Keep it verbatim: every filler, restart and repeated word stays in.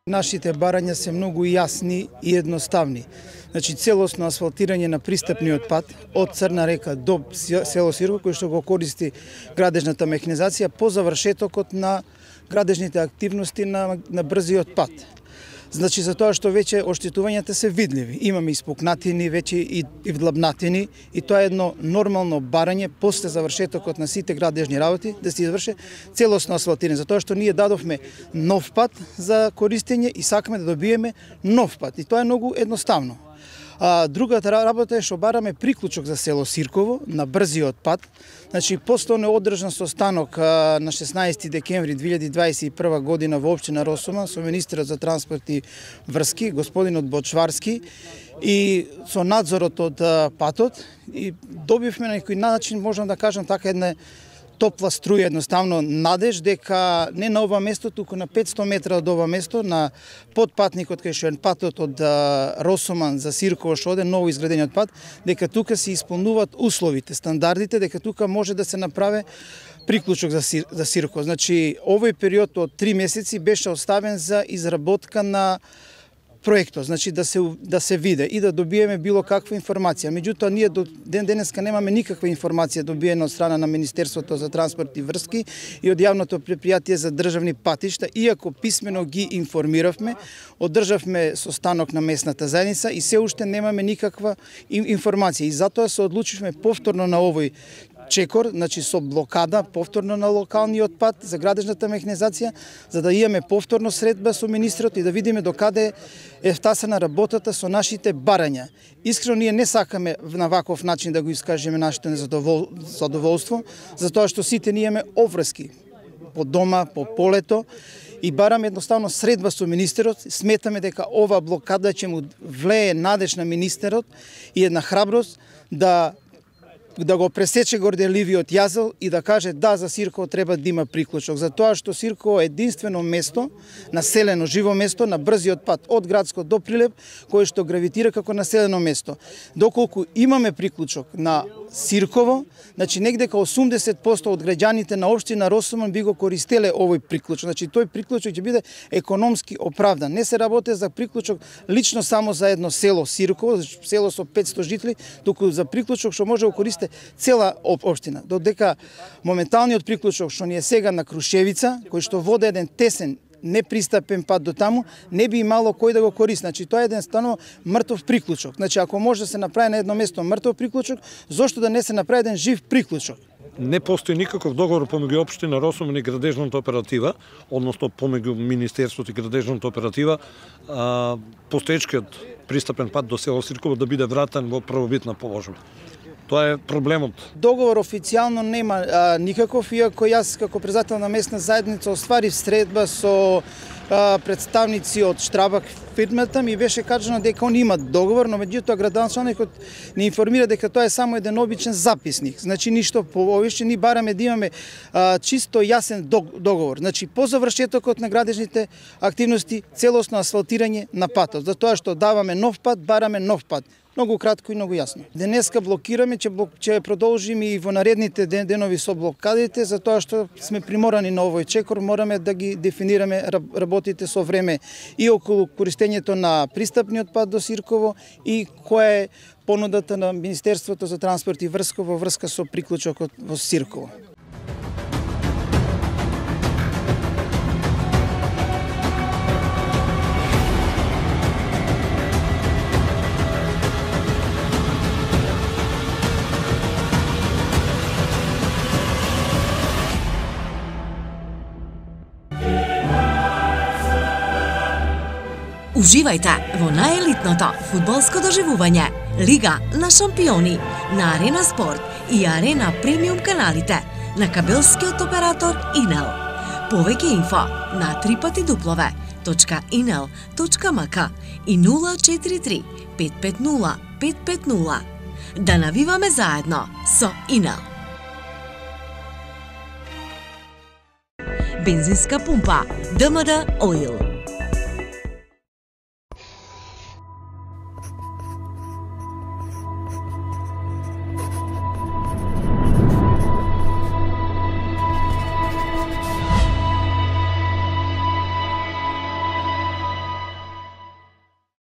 Нашите барања се многу јасни и едноставни. Значи, целосно асфалтирање на пристапниот пат од Црна река до село Сирково, кој што го користи градежната механизација по завршетокот на градежните активности на, на брзиот пат. Значи, за тоа што веќе оштетувањата се видливи. Имаме испукнатини, веќе и, и вдлабнатини, и тоа е едно нормално барање после завршетокот на сите градежни работи да се изврши целосно асфалтирање. Затоа што ние дадовме нов пат за користење и сакаме да добиеме нов пат. И тоа е многу едноставно. А, другата работа е што бараме приклучок за село Сирково на брзиот пат. Значи, постојано е одржан состанок а, на шеснаесети декември две илјади дваесет и прва година во општина Росуман со министерот за транспорт и врски, господинот Бочварски, и со надзорот од а, патот, и добивме на некој начин, можам да кажам така, една топла струја, едноставно надеж дека не на ова место, туку на петсто метра од ова место, на подпатникот кај што е патот од Росуман за Сирково, што оде ново изградениот пат, дека тука се исполнуваат условите, стандардите, дека тука може да се направи приклучок за, Сир, за Сирково. Значи, овој период од три месеци беше оставен за изработка на проектот, значи да се да се виде и да добиеме било каква информација. Меѓутоа, ние до ден денеска немаме никаква информација добиена од страна на Министерството за транспорт и врски и од јавното предпријатие за државни патишта, иако писмено ги информиравме, одржавме состанок на местната заедница и се уште немаме никаква информација. И затоа се одлучивме повторно на овој чекор, значи со блокада повторно на локалниот пат за градежната механизација, за да имаме повторно средба со министрот и да видиме докаде е втасана работата со нашите барања. Искрено ние не сакаме на ваков начин да го искажеме нашето незадоволство, затоа што сите ние имаме обврски по дома, по полето, и бараме едноставно средба со министерот. Сметаме дека ова блокада ќе му влее надеж на министерот и една храброст да да го пресече горделивиот јазел и да каже да, за Сирково треба да има приклучок. Затоа што Сирково е единствено место, населено живо место на брзиот пат од Градско до Прилеп, кој што гравитира како населено место. Доколку имаме приклучок на Сирково, значи негде као осумдесет проценти од граѓаните на општина Росуман би го користеле овој приклучок. Значи тој приклучок ќе биде економски оправдан. Не се работи за приклучок лично само за едно село Сирково, село со петсто жители, туку за приклучок што може да користи цела општина. Додека моменталниот приклучок што ни е сега на Крушевица, кој што води еден тесен непристапен пат до таму, не би имало кој да го користи. Значи тоа е еден станов мртов приклучок. Значи ако може да се направи на едно место мртов приклучок, зошто да не се направи еден жив приклучок? Не постои никаков договор помеѓу општина Росуман и градежната оператива, односно помеѓу Министерството и градежната оператива, а, постоечкиот пристапен пат до село Сирково да биде вратен во првобитна положба. Тоа е проблемот. Договор официјално нема а, никаков, иако јас како председател на местна заедница остварив средба со а, представници од Штрабак фирмата, ми беше кажано дека они имат договор, но меѓутоа градоначалникот не информира дека тоа е само еден обичен записник. Значи ништо повеќе, ни бараме да имаме а, чисто јасен договор. Значи по завршетокот на градежните активности целосно асфалтирање на патот. Затоа што даваме нов пат, бараме нов пат. Многу кратко и многу јасно. Денеска блокираме, ќе, блок, ќе продолжиме и во наредните ден, денови со блокадите, затоа што сме приморани на овој чекор, мораме да ги дефинираме работите со време и околу користењето на пристапниот пат до Сирково и која е понудата на Министерството за транспорт и врска во врска со приклучокот во Сирково. Уживајте во најелитното фудбалско доживување Лига на шампиони на Арена Спорт и Арена Премиум каналите на кабелскиот оператор Инел. Повеќе инфо на три пати дуплове точка инел точка мк и нула четири три пет пет нула пет пет нула. Да навиваме заедно со Инел. Бензинска пумпа ДМД Oil.